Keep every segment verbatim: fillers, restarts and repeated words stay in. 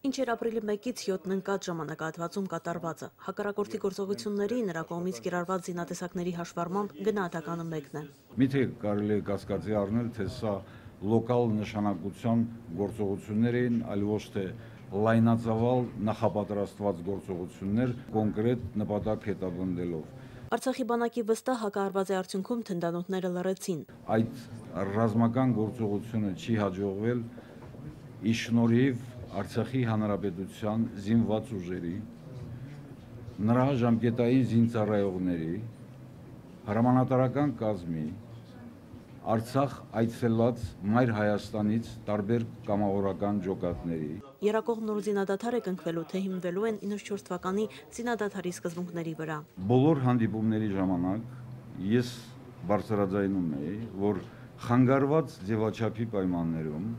Ինչ էր ապրիլի մեկից յոթն ընկած ժամանակահատվածում կատարվածը։ Հակառակորդի գործողությունների նրա կողմից կիրառված զինատեսակների հաշվառմամբ գնահատականը մեկն է։ Միթե կարելի է կասկածի առնել, թե սա լոկալ նշանակության գործողություններ էին, այլ ոչ թե լայնածավալ նախապատրաստված գործողություններ կոնկրետ նպատակ հետապնդելով։ Արցախի բանակի վստահ հակահարվածի արդյունքում թնդանոթները լռեցին։ Այդ ռազմական գործողությունը չի հաջողվել ի շնորհիվ Արցախի Հանրապետության զինված ուժերի, նրա ժամկետային զինծառայողների, հրամանատարական կազմի, Արցախ այցելած Մայր Հայաստանից տարբեր կամավորական ջոկատների։ Եռակողմ նոր զինադադար է կնքվելու, թե հիմնվելու են իննսունչորդ թվականի զինադադարի սկզբունքների վրա։ Բոլոր հանդիպումների ժամանակ ես բարձրաձայնում էի, որ խանգարված ձևաչափի պայմաններում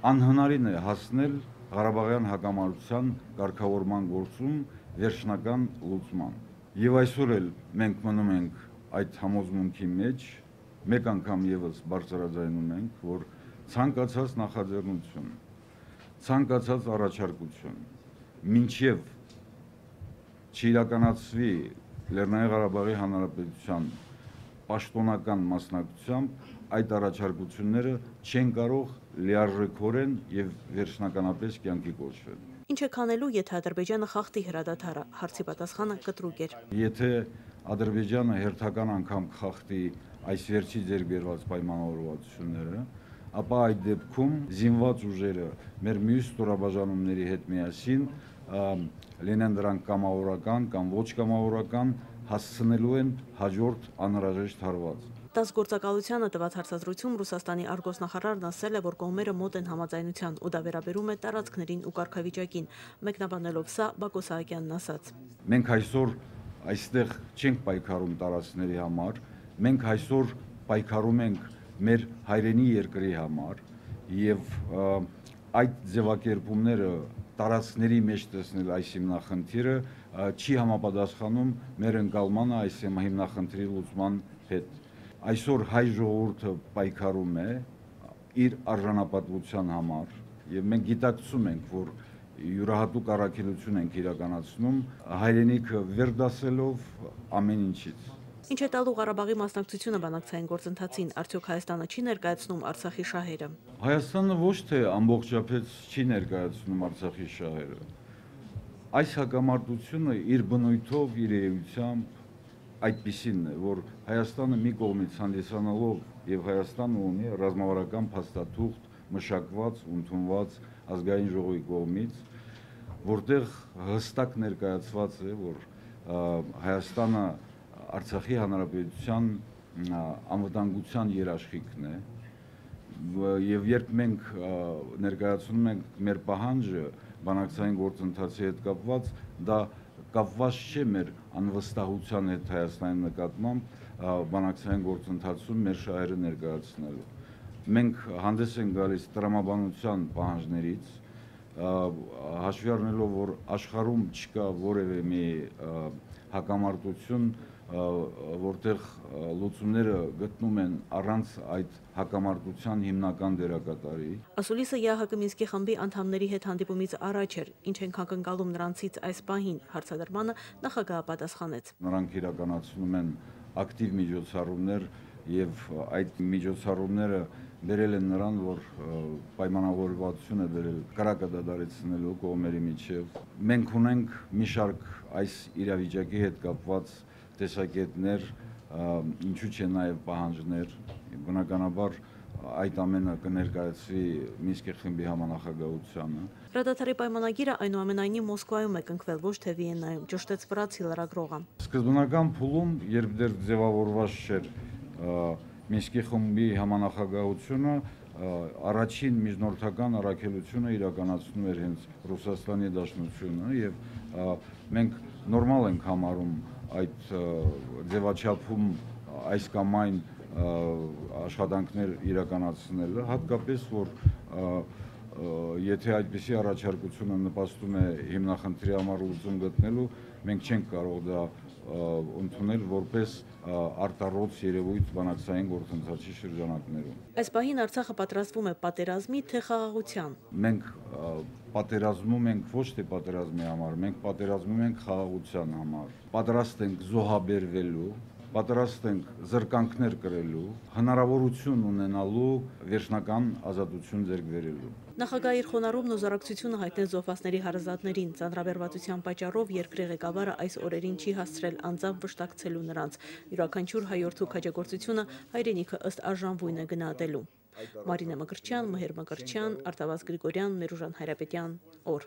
անհնարին է հասնել Ղարաբաղյան հակամարտության կարգավորման գործում վերջնական լուծման։ Եվ այսօր էլ մենք մնում ենք այդ համոզմունքի մեջ, մեկ անգամ եւս բարձրաձայնում ենք, որ ցանկացած նախաձեռնություն, ցանկացած առաջարկություն, մինչև չիրականացվի Լեռնային Ղարաբաղի Հանրապետության պաշտոնական մասնակցությամբ, այդ առաջարկությունները չեն կարող լիարժեքորեն եւ վերջնականապես կյանքի կոչվել։ Ինչ է քանելու, եթե Ադրբեջանը խախտի հրադադարը, հարցի պատասխանը կտրուկ էր։ Եթե Ադրբեջանը հերթական անգամ խախտի այս վերջի ձեռք բերված պայմանավորվածությունները, ապա այդ դեպքում զինված ուժերը մեր մյուս ստորաբաժանումների հետ միասին լինեն դրանք կամավորական կամ ոչ կամավորական, հասցնելու են հաջորդ անհրաժեշտ հարված։ ՏԱՍՍ գործակալությանը տված հարցազրույցում Ռուսաստանի արտգործնախարարն ասել է, որ կողմերը մոտ են համաձայնության ու դա վերաբերում է տարածքներին ու կարգավիճակին, մեկնաբանելով սա Բակո Սահակյանն ասաց. Մենք այսօր այստեղ չենք պայքարում տարածքների համար, մենք այսօր պայքարում ենք մեր հայրենի երկրի համար եւ այդ ձևակերպումները տարածքների մեջ տեսնել այս հիմնախնդիրը չի համապատասխանում մեր ընկալմանը այս հիմնախնդրի լուծման հետ։ Այսօր հայ ժողովուրդը պայքարում է իր արժանապատվության համար եւ մենք գիտակցում ենք, որ յուրահատուկ առաքելություն ենք իրականացնում հայրենիքը վերդասելով ամեն ինչից։ Ինչ է տալու Ղարաբաղի մասնակցությունը բանակցային գործընթացին, արդյոք Հայաստանը չի ներկայացնում Արցախի շահերը։ Հայաստանը ոչ թե ամբողջապես չի ներկայացնում Արցախի շահերը։ Այս հակամարտությունը իր բնույթով, իր էությամբ այդպիսին է, որ Հայաստանը մի կողմից հանդիսանալով եւ Հայաստանը ունի ռազմավարական փաստաթուղթ մշակված, ընդունված ազգային ժողովի կողմից, որտեղ հստակ ներկայացված է, որ Հայաստանը Արցախի Հանրապետության անվտանգության երաշխիքն է եւ երբ մենք ներկայացնում ենք մեր պահանջը բանակցային գործընթացի հետ կապված, դա կապված չէ մեր անվստահության հետ Հայաստանի նկատմամբ բանակցային գործընթացում մեր շահերը ներկայացնելու։ Մենք հանդես ենք գալիս տրամաբանության պահանջներից, հաշվի առնելով, որ աշխարհում չկա որևէ մի հակամարտություն, որտեղ լուծումները գտնում են առանց այդ հակամարտության հիմնական դերակատարի։ Ասուլիսը ԵԱՀԿ Մինսկի խմբի անդամների հետ հանդիպումից առաջ էր, ինչ ենք ակնկալում նրանցից այս պահին, հարցադրմանը նախագահը պատասխանեց։ Նրանք իրականացնում են ակտիվ միջոցառումներ եւ այդ միջոցառումները բերել են նրան, որ պայմանավորվածություն է բերել կրակը դադարեցնելու կողմերի միջև։ Մենք ունենք մի շարք այս իրավիճակի հետ կապված տեսակետներ, ինչու՞ չէ նաև պահանջներ, բնականաբար այդ ամենը կներկայացվի Մինսկի խմբի համանախագահությանը։ Հրադադարի պայմանագիրը այնուամենայնիվ Մոսկվայում է կնքվել, ոչ թե Վիեննայում, ճշտեց վրացի լրագրողը։ Սկզբնական փուլում, երբ դեռ ձևավորված չէր Մինսկի խմբի համանախագահությունը, առաջին միջնորդական առաքելությունը իրականացնում էր հենց Ռուսաստանի Դաշնությունը եւ մենք նորմալ ենք համարում այդ ձևաչափում այս կամ այն աշխատանքներ իրականացնելը, հատկապես որ եթե այդպիսի առաջարկությունը նպաստում է հիմնախնդրի համար լուծում գտնելու, մենք չենք կարող դա ընդունել որպես արտառոց երևույթ բանակցային գործընթացի շրջանակներում։ Այս պահին Արցախը պատրաստվում է պատերազմի թե խաղաղության։ Մենք պատերազմում ենք ոչ թե պատերազմի համար, մենք պատերազմում ենք խաղաղության համար։ Պատրաստ ենք զոհաբերվելու, պատրաստ ենք զրկանքներ կրելու, հնարավորություն ունենալու վերջնական ազատություն ձեռք բերելու։ Նախագահի իր խոնարհումն ու զորակցությունը հայտնեց զոհվածների հարազատներին։ Ծանրաբեռվածության պատճառով երկրի ղեկավարը այս օրերին չի հասցրել անձամբ վշտակցելու նրանց։ Յուրաքանչյուր հայորդու քաջագործությունը հայրենիքը ըստ արժանվույն է գնահատելու։ Մարինե Մկրտչյան, Մհեր Մկրտչյան, Արտավազդ Գրիգորյան, Մերուժան Հայրապետյան, օր։